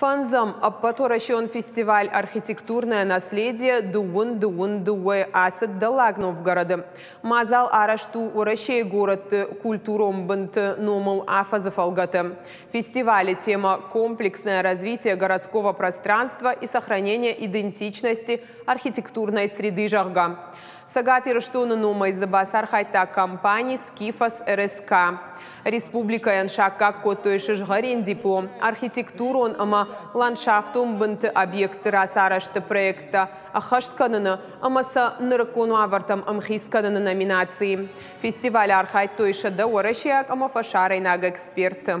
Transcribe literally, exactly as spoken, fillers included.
Фӕндзӕм ӕппӕтуӕрӕсеон фестиваль «Архитектурное наследие» дыууын дыууын дыууӕ ацыд Дӕллаг Новгороды. Мадзал арӕзт у Уӕрӕсейы горӕтты культурон бынты номыл афӕдзы фӕлгӕты. Фестивалы темӕ «Комплексное развитие городского пространства и сохранение идентичности архитектурной среды», зӕгъгӕ. Цӕгат Ирыстоны номӕй дзы бацархайдта компани «Скифос РСК». Республикӕйӕн саккаг кодтой сызгъӕрин диплом архитектурон ӕмӕ ландшафтон бынты объектты рацарӕзты проекттӕ ӕххӕст кӕныны ӕмӕ сӕ нырыккон уавӕртӕм ӕмхиц кӕныны номинацийы. Фестивалы архайдтой сӕдӕ уӕрӕсейаг ӕмӕ фӕсарӕйнаг эксперты.